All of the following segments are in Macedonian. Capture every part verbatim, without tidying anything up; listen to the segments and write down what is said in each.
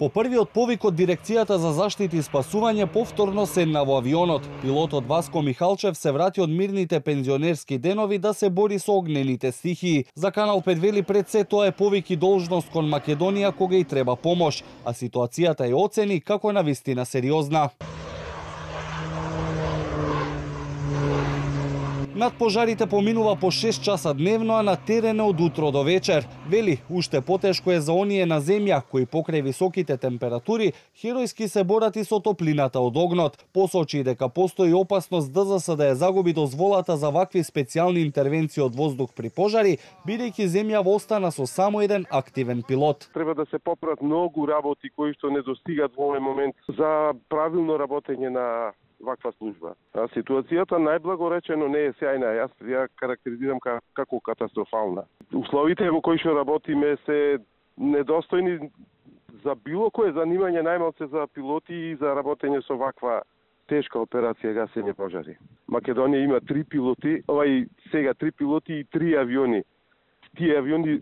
По првиот повик од Дирекцијата за заштита и спасување повторно седна во авионот. Пилотот Васко Михалчев се врати од мирните пензионерски денови да се бори со огнените стихии. За Канал пет вели пред се тоа е повик и должност кон Македонија кога и треба помош, а ситуацијата ја оцени како навистина сериозна. Над пожарите поминува по шест часа дневно, а на терен од утро до вечер. Вели, уште потешко е за оние на земја кои покрај високите температури херојски се борат и со топлината од огнот. Посочи дека постои опасност ДЗС да ја загуби дозволата за вакви специјални интервенции од воздух при пожари, бидејќи земјава остана со само еден активен пилот. Треба да се поправат многу работи кои што не достигат во овој момент за правилно работење на ваква служба. А ситуацијата најблагоречено не е сјајна, јас ја карактеризирам како катастрофална. Условите во кои што работиме се недостојни за било кое занимање, најмалку за пилоти и за работење со ваква тешка операција гасење пожари. Македонија има три пилоти, овај сега три пилоти и три авиони. Тие авиони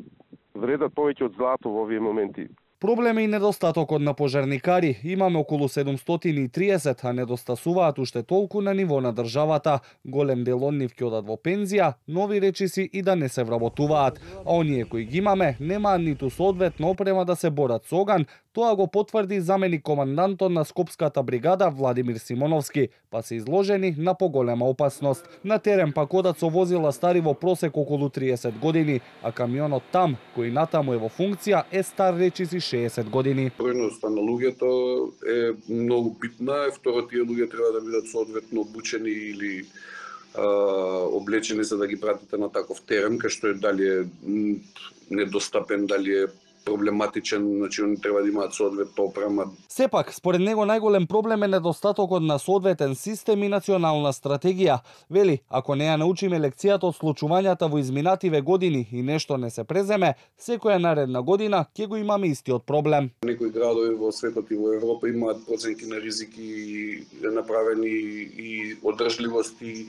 вредат повеќе од злато во овие моменти. Проблем е и недостатокот на пожарникари. Имаме околу седумстотини и триесет, а недостасуваат уште толку на ниво на државата. Голем дел од нив ќе одат во пензија, нови речиси и да не се вработуваат. А оние кои ги имаме, немаат ниту соодветна опрема да се борат со оган. Тоа го потврди заменик командантот на Скопската бригада Владимир Симоновски, па се изложени на поголема опасност. На терен пак одат со возила стари во просек околу триесет години, а камионот там, кој натаму е во функција, е стар речиси шеесет години. Бројноста на луѓето е многу битна, второ тие луѓе треба да бидат соодветно обучени или а, облечени за да ги пратите на таков терен, кај што е дали е недостапен, дали е проблематичен, значи они треба да имаат соодветна опрема. Сепак, според него најголем проблем е недостатокот на соодветен систем и национална стратегија. Вели, ако не ја научиме лекцијата од случувањата во изминативе години и нешто не се преземе, секоја наредна година ќе го имаме истиот проблем. Некои градови во светот и во Европа имаат проценки на ризики направени и одржливост и,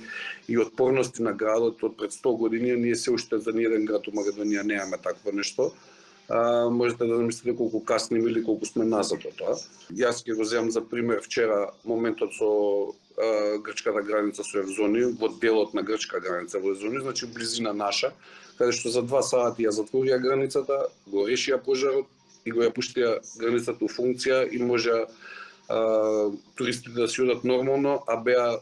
и отпорности на градот од пред сто години. Ние се уште за ниеден град у Македонија немаме такво нешто. А, можете да замислите колку касниме или колку сме назад од тоа. Јас ќе го земам за пример вчера моментот со а, грчката граница со Евзони, во делот на грчка граница во Евзони, значи близина наша, каде што за два сати ја затворија границата, го решија пожарот и го ја пуштија границата у функција и можеа туристите да си одат нормално, а беа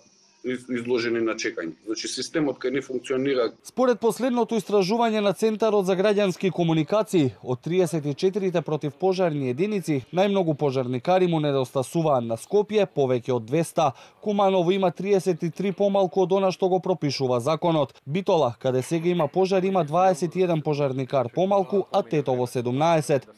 изложени на чекање. Значи системот кај не функционира. Според последното истражување на Центарот за граѓански комуникации, од триесет и четири противпожарни единици, најмногу пожарникари му недостасуваат на Скопје, повеќе од двеста. Куманово има триесет и три помалку од она што го пропишува законот. Битола, каде сега има пожар, има дваесет и еден пожарникар помалку, а Тетово седумнаесет.